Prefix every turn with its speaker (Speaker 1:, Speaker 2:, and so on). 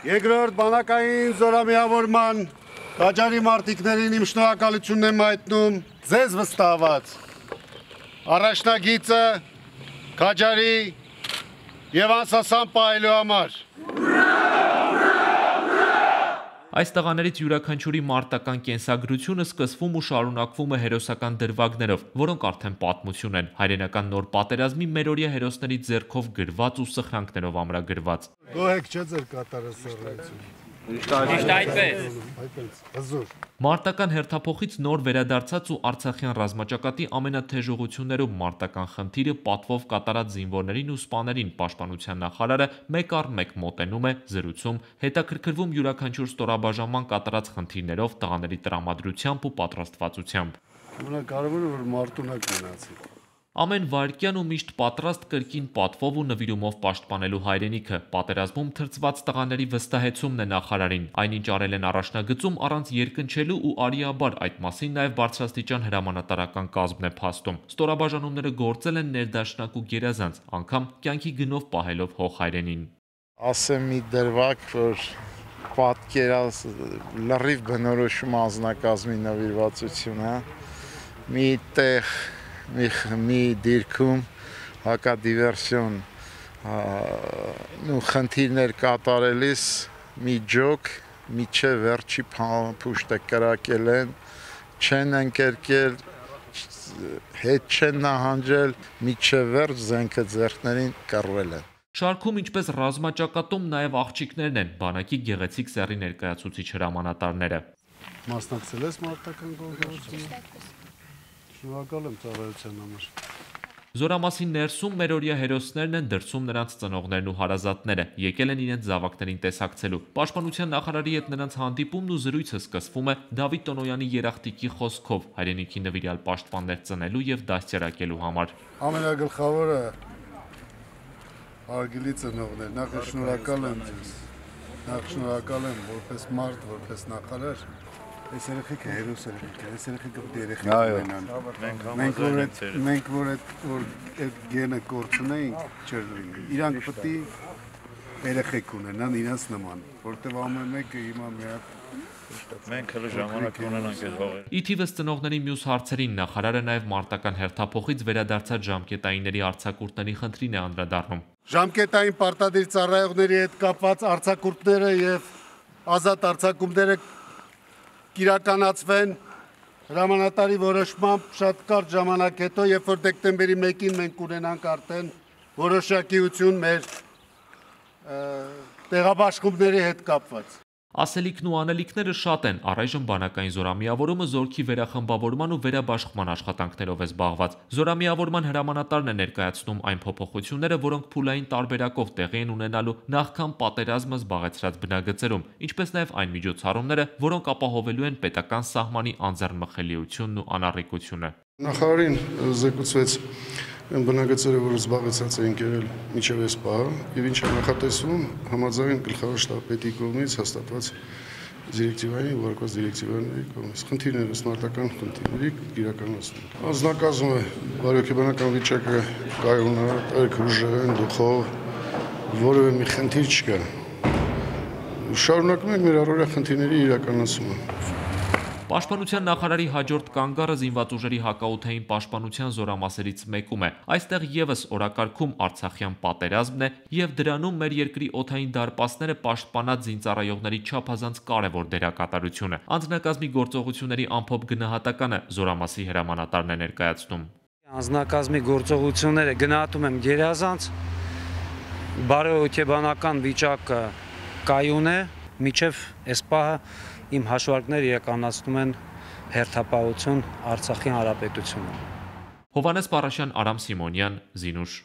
Speaker 1: Երկրորդ բանակային զորամիավորման Քաջարի մարտիկներին իմ շնորհակալությունն եմ հայտնում ձեզ վստահված առաջնագիծը Քաջարի եւ անսասան պահելու համար։
Speaker 2: Այս տղաներից յուրաքանչյուրի մարտական կենսագրությունը սկսվում ու շարունակվում է հերոսական դրվագներով, որոնք արդեն պատմություն են, հայրենական նոր պատերազմի մերօրյա հերոսների ձեռքով գրված ու սխրանքներով ամրագրված։
Speaker 1: Գոհեք չէ ձեր կատարասրահությունը։
Speaker 2: Միշտ Մարտական հերթափոխից նոր վերադարձած ու Արցախյան ռազմաճակատի ամենաթեժ ուղղություններում մարտական խնդիրը պատվով կատարած զինվորներին ու սպաներին պաշտպանության նախարարը մեկ առ մեկ մոտենում է, զրուցում, հետաքրքրվում յուրաքանչյուր ստորաբաժանման կատարած խնդիրներով, տղաների տրամադրությամբ ու պատրաստվածությամբ։
Speaker 1: Ամենակարևորը որ մարտունակ մնացի։
Speaker 2: Ամեն վայրկյան ու միշտ պատրաստ կրկին պատվով ու նվիրումով պաշտպանելու հայրենիքը, պատերազմում թրծված տղաների վստահեցումն է նախարարին, այնինչ արել են առաջնագծում առանց երկնչելու ու արիաբար այդ մասին նաև բարձրաստիճան հրամանատարական կազմն է փաստում։ Ստորաբաժանումները գործել են ներդաշնակ ու գերազանց, անգամ կյանքի գնով պահելով հող հայրենին։
Speaker 3: Ասեմ մի դրվագ, որ պատկերած լրիվ բնորոշում անձնակազմի նվիրվածությունը, մի տեղ մի դիրքում հակադիվերսիոն խնդիրներ կատարելիս մի ջոկ միջև վերջի փուշտը կրակել են, չեն ընկերկել, հետ չեն նահանջել, միջև վերջ զենքը ձեռքներին կռվել են։
Speaker 2: Շարքում ինչպես ռազմաճակատում նաև աղջիկներն են, բանակի գեղեցիկ սեռի ներկայացուցիչ հրամանատարները։
Speaker 1: Մասնակցել ես մարտական գործողությանը։ Շնորհակալ եմ ծառայության համար։
Speaker 2: Զորամասի ներսում մերօրյա հերոսներն են, դրսում նրանց ծնողներն ու հարազատները, եկել են իրենց զավակներին տեսակցելու։ Պաշտպանության նախարարի հետ նրանց հանդիպումն ու զրույցը սկսվում է Դավիթ Տոնոյանի երախտիկի խոսքով, հայրենիքի նվիրյալ պաշտպաններ ծնելու եւ դաստիարակելու համար։
Speaker 1: Ամենագլխավորը արգելի ծնողներ, նախ շնորհակալ եմ ձեզ։ Նախ շնորհակալ եմ որպես մարդ, որպես նախարար։ Այս երեխեքը հերոս երեխեք են, այս երեխեքը երեխեք ունենան։ Մենք որ այդ գենը կորցնեինք չէր լինի։ Իրանք պետք է երեխեք ունենան իրենց նման, որտեղ ամեն մեկը հիմա մի հատ
Speaker 4: մենք հələ ժամանակ ունենանք այդ հողերը։
Speaker 2: Ի թիվս ծնողների մյուս հարցերին նախարարը նաև մարտական հերթափոխից վերադարձած ժամկետայինների արձակուրդների խնդրին է անդրադառնում։
Speaker 1: Ժամկետային պարտադիր ծառայողների հետ կապված արձակուրդները եւ ազատ արձակումները կիրականացվեն հրամանատարի որոշմամբ շատ կարճ ժամանակ հետո, երբ որ դեկտեմբերի 1-ին մենք ունենանք արդեն որոշակիություն մեր տեղաբաշխումների հետ կապված։
Speaker 2: Ասելիքն ու անելիքները շատ են, առայժմ բանակային զորամիավորումը զորքի վերախմբավորման ու վերաբաշխման աշխատանքներով է զբաղված։ Զորամիավորման հրամանատարն է ներկայացնում այն փոփոխությունները, որոնք փուլային տարբերակով տեղի են ունենալու նախքան պատերազմը զբաղեցրած բնագծերում, ինչպես նաև այն միջոցառումները, որոնք ապահովելու են պետական սահմանի անձեռնմխելիությունն ու անառիկությունը։
Speaker 5: Նախարարին զեկուցվեց այն բնագծերը, որ զբաղեցած էին կերել մինչև այս պահը, եւ ինչ է նախատեսվում համաձայն գլխավոր շտաբի կողմից հաստատված դիրեկտիվային, ուղարկված դիրեկտիվների կողմից։ Խնդիրները մարտական խնդիրների իրականացնում։ Անձնակազմը բարոյական վիճակը կայուն է, երկրուժեն, դուխով, որևէ մի խնդիր չկա։ Շարունակում ենք մեր առօրյա խնդիրների իրականացումը։
Speaker 2: Պաշտպանության նախարարի հաջորդ կանգառը զինված ուժերի հակաօդային պաշտպանության զորամասերից մեկում է։ Այստեղ եւս օրակարգում Արցախյան պատերազմն է եւ դրանում մեր երկրի օդային դարպասները պաշտպանած զինծառայողների չափազանց կարևոր դերակատարությունը։ Անձնակազմի գործողությունների ամփոփ գնահատականը զորամասի հրամանատարն է ներկայացնում։
Speaker 6: Անձնակազմի գործողությունները գնահատում եմ գերազանց, բարոյական վիճակը կայուն է, միջև այս պահը իմ հաշվարկները իրականացնում են հերթապահություն Արցախի հանրապետությունում։
Speaker 2: Հովհաննես Պարաշյան, Արամ Սիմոնյան, Զինուշ։